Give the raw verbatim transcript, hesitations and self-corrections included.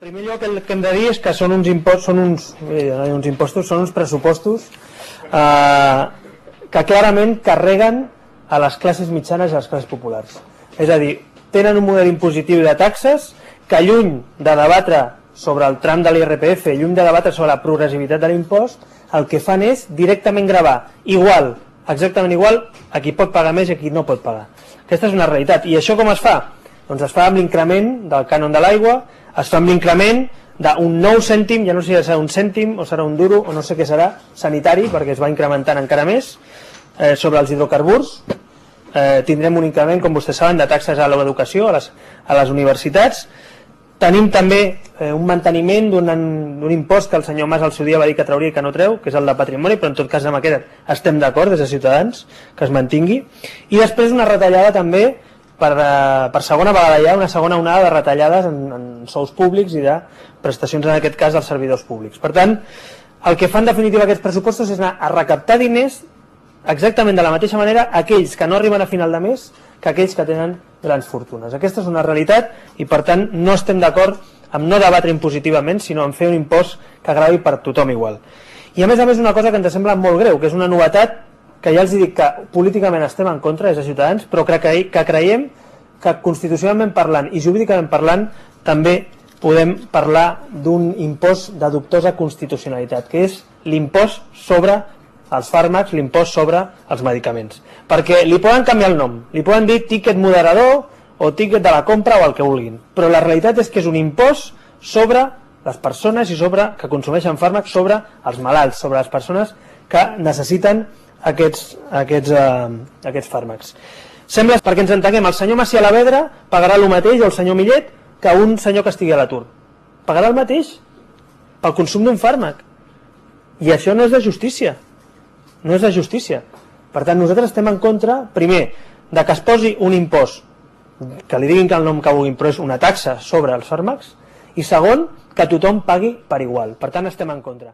primer lloc el que hem de dir és que són uns impostos, són uns, eh, uns impostos, són uns pressupostos eh, que clarament carreguen a les classes mitjanes i a les classes populars. És a dir, tenen un model impositiu de taxes que, lluny de debatre sobre el tram de l'I R P F, lluny de debatre sobre la progressivitat de l'impost, el que fan és directament gravar igual, exactament igual, a qui pot pagar més i a qui no pot pagar. Aquesta és una realitat. I això com es fa? Doncs es fa amb l'increment del cànon de l'aigua, es fa amb l'increment d'un nou cèntim, ja no sé si serà un cèntim o serà un duro o no sé què serà, sanitari, perquè es va incrementant encara més, eh, sobre els hidrocarburs. Eh, tindrem un increment, com vostès saben, de taxes a l'educació, a les, a les universitats. Tenim també eh, un manteniment d'un impost que el senyor Mas al seu dia va dir que trauria i que no treu, que és el de patrimoni, però en tot cas amb aquest estem d'acord des de Ciutadans, que es mantingui. I després una retallada també per, per segona vegada ja, una segona onada de retallades en, en sous públics i de prestacions, en aquest cas, dels servidors públics. Per tant, el que fan en definitiva aquests pressupostos és anar a recaptar diners exactament de la mateixa manera aquells que no arriben a final de mes que aquells que tenen grans fortunes. Aquesta és una realitat i, per tant, no estem d'acord amb no debatre impositivament, sinó en fer un impost que gravi per tothom igual. I, a més a més, una cosa que ens sembla molt greu, que és una novetat que ja els dic que políticament estem en contra des de Ciutadans, però que, que creiem que constitucionalment parlant i jurídicament parlant també podem parlar d'un impost de dubtosa constitucionalitat, que és l'impost sobre els fàrmacs, l'impost sobre els medicaments. Perquè li poden canviar el nom, li poden dir tiquet moderador o tiquet de la compra o el que vulguin, però la realitat és que és un impost sobre les persones i sobre que consumeixen fàrmacs, sobre els malalts, sobre les persones que necessiten aquests, aquests, eh, aquests fàrmacs. Sembla, perquè ens entenguem, el senyor Macià Alavedra pagarà el mateix, o el senyor Millet, que un senyor que estigui a l'atur. Pagarà el mateix pel consum d'un fàrmac. I això no és de justícia. No és de justícia. Per tant, nosaltres estem en contra, primer, de que es posi un impost, que li diguin que el nom que vulguin, però és una taxa sobre els fàrmacs, i segon, que tothom pagui per igual. Per tant, estem en contra.